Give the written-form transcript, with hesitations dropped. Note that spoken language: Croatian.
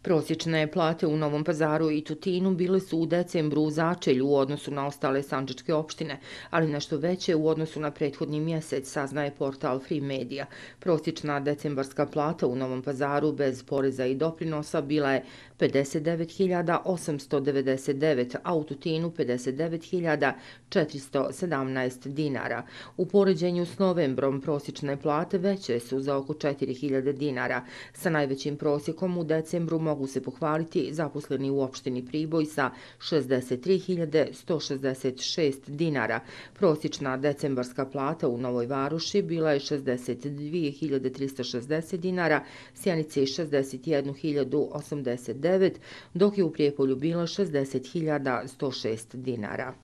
Prosječne plate u Novom Pazaru i Tutinu bile su u decembru u začelju u odnosu na ostale sandžačke opštine, ali nešto veće u odnosu na prethodni mjesec, saznaje portal Free Media. Prosječna decembarska plata u Novom Pazaru bez poreza i doprinosa bila je 59.899, a u Tutinu 59.417 dinara. U poređenju s novembrom prosječne plate veće su za oko 4.000 dinara. Sa najvećim prosjekom u decembru mogu se pohvaliti zaposleni u opštini Priboj sa 63.166 dinara. Prosječna decembarska plata u Novoj Varoši bila je 62.360 dinara, Sjenici 61.089, dok je u Prijepolju bila 60.106 dinara.